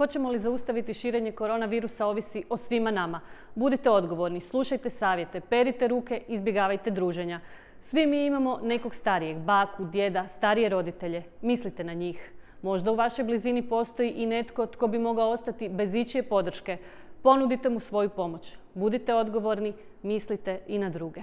Hoćemo li zaustaviti širenje koronavirusa ovisi o svima nama. Budite odgovorni, slušajte savjete, perite ruke, izbjegavajte druženja. Svi mi imamo nekog starijeg, baku, djeda, starije roditelje. Mislite na njih. Možda u vašoj blizini postoji i netko tko bi mogao ostati bez ičije podrške. Ponudite mu svoju pomoć. Budite odgovorni, mislite i na druge.